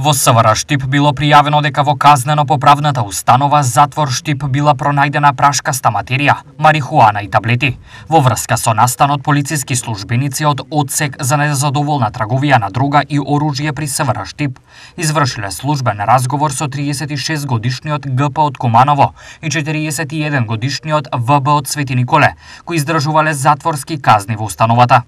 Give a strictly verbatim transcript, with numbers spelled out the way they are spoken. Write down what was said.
Во СВР Штип било пријавено дека во казнено-поправната установа затвор Штип била пронајдена прашкаста материја, марихуана и таблети. Во врска со настанот, полициски службеници од Одсек за незадоволна трговија на дрога и оружје при СВР Штип извршиле службен разговор со триесет и шест годишниот Г П од Куманово и четириесет и еден годишниот В Б од Свети Николе, кои издржувале затворски казни во установата.